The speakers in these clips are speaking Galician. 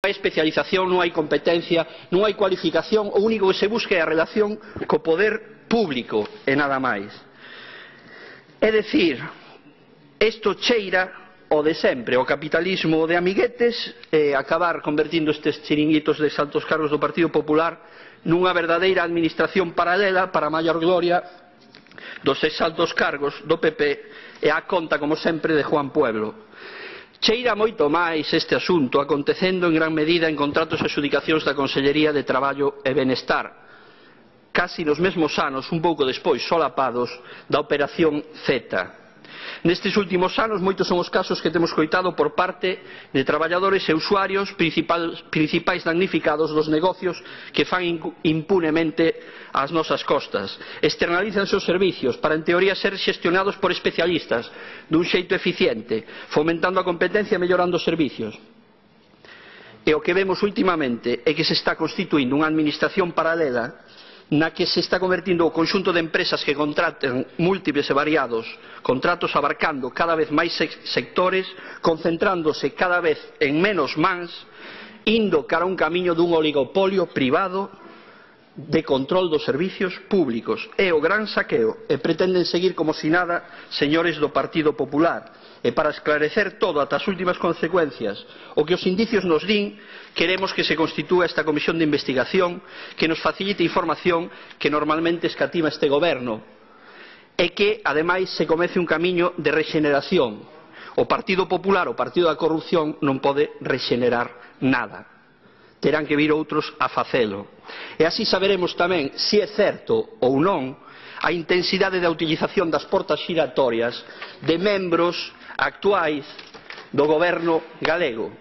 hai especialización, non hai competencia, non hai cualificación, o único que se busca é a relación co poder público e nada máis. É dicir, isto cheira o de sempre, o capitalismo de amiguetes, e acabar convertindo estes chiringuitos de altos cargos do Partido Popular nunha verdadeira administración paralela para a maior gloria dos exaltos cargos do PP e a conta, como sempre, de Juan Pueblo. Cheira moito máis este asunto acontecendo en gran medida en contratos e adxudicacións da Consellería de Traballo e Benestar, casi nos mesmos anos, un pouco despois, solapados da Operación Z. Nestes últimos anos, moitos son os casos que temos coitado por parte de traballadores e usuarios principais damnificados dos negocios que fan impunemente ás nosas costas. Externalizan os servicios para, en teoría, ser xestionados por especialistas dun xeito eficiente, fomentando a competencia e mellorando os servicios. E o que vemos últimamente é que se está constituindo unha administración paralela na que se está convertindo o conxunto de empresas que contratan múltiples e variados contratos abarcando cada vez máis sectores, concentrándose cada vez en menos mans, indo cara a un camiño dun oligopolio privado de control dos servicios públicos. É o gran saqueo e pretenden seguir como si nada señores do Partido Popular. E para esclarecer todo ata as últimas consecuencias, o que os indicios nos din, queremos que se constitúa esta comisión de investigación que nos facilite información que normalmente escatima este goberno e que, ademais, se comece un camiño de rexeneración. O Partido Popular, o Partido da Corrupción, non pode rexenerar nada. Terán que vir outros a facelo. E así saberemos tamén se é certo ou non a intensidade da utilización das portas xiratorias de membros actuais do goberno galego,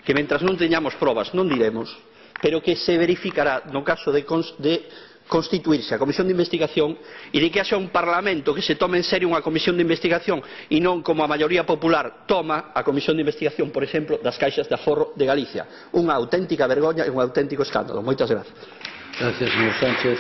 que mentras non teñamos probas non diremos, pero que se verificará no caso de constituirse a comisión de investigación e de que haxa un parlamento que se tome en serio unha comisión de investigación e non como a maioría popular toma a comisión de investigación, por exemplo, das caixas de aforro de Galicia. Unha auténtica vergoña e un auténtico escándalo. Moitas grazas. Gracias, señor Sánchez.